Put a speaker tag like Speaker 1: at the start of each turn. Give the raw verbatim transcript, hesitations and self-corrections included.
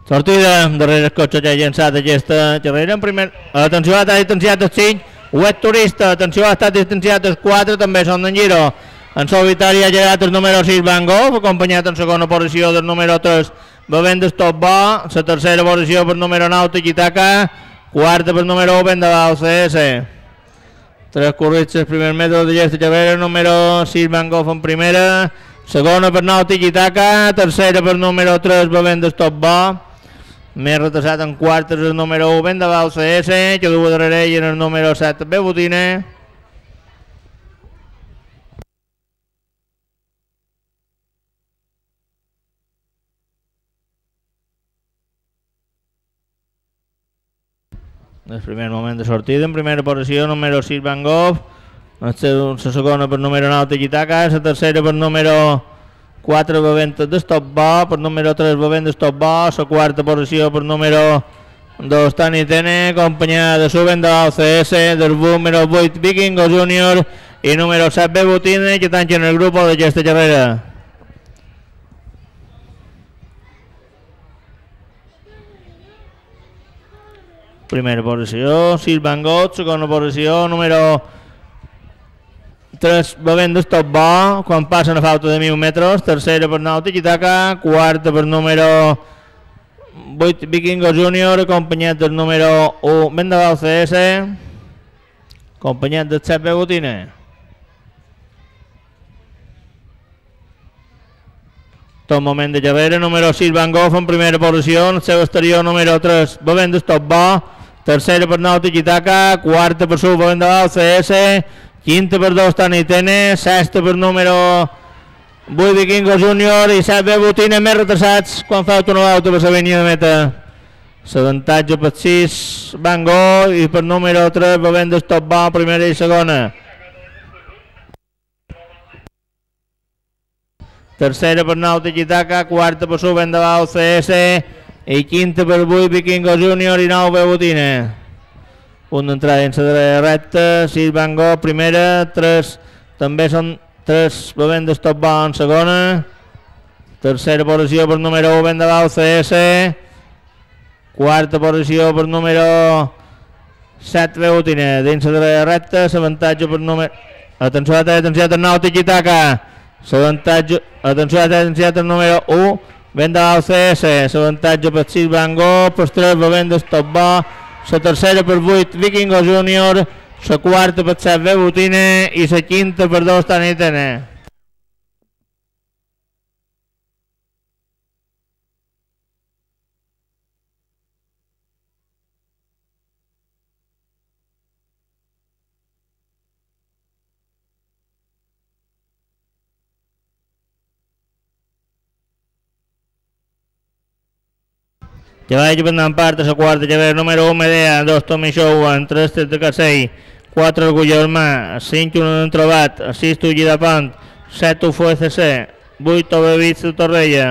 Speaker 1: Sortida darrere el cotxe que ha llançat aquesta carrera. En primer, atenció, ha estat distanciat el cinc, Web Turista, atenció, ha estat distanciat el quatre, també són d'en Giro. En solitari ha llegat el número sis Van Gogh, acompanyat en segona posició del número tres Bevent Stop Bo, la tercera posició per número nou Tiki-Taka, quarta per número u Vendaval C S. Tres corrits els primers metres d'aquesta carrera, número sis Van Gogh en primera, segona per nou Tiki-Taka, tercera per número tres Bevent Stop Bo, més retrasat en quart és el número u Vendaval C S, que du darrere ell en el número set Bebutine. El primer moment de sortida, en primera posició, número sis Van Gogh, la segona per número nou Tiki-Taka, la tercera per número quatre Bevent de Stop Bo, per número tres Bevent de Stop Bo, la quarta posició per número dos Tani Tene, acompanyada de Suben de l'O C S, del número vuit Vikingo Júnior i número set Bebutine, que tanquen el grup d'aquesta carrera. Primera posició, sis Van Gogh, segona posició, número tres Bevent de Stop Bo, quan passen a falta de mil metres, tercera per nou Tiki-Taka, quarta per número vuit Vikingo Júnior, acompanyat del número u Vendaval C S, acompanyat del set Bebutine. Tot moment de carrera, número sis Van Gogh en primera posició, en el seu exterior número tres Bevent de Stop Bo, tercera per nou Tiki-Taka, quarta per su Vendaval C S, quinta per dos Tani Tene, sexta per número vuit Vikingo Júnior i set Bebutine, més retrasats quan falta una volta per la línia de meta. L'avantatge per sis Van Gogh i per número tres Bevent de Stop Bo, primera i segona. Tercera per nou Tiki-Taka, quarta per su Vendaval C S i quinta per vuit Vikingo Júnior i nou Bebutine. Punt d'entrada en la darrera recta, sis Van Gogh primera, tres també són tres Bevent de Stop Bo en segona, tercera posició per número u Vendaval C S, quarta posició per número set Bebutine. Dins la darrera recta, l'avantatge per número... Atenció, atenció, el nou Tiki-Taka, l'avantatge... Atenció, atenció, el número u Vendaval C S, l'avantatge per sis Van Gogh, per tres Bevent de Stop Bo, la tercera per vuit Vikingo Júnior, la quarta per set Bebutine i la quinta per dos Tani Tene. Que vagi pendant part a la quarta carrera, número u Medea, dos Tommy Showan, tres Tet de Casell, quatre Orgull Armà, cinc Un Entrobat, sis Tulli de Pont, set U F C, vuit Obevits de Torrella.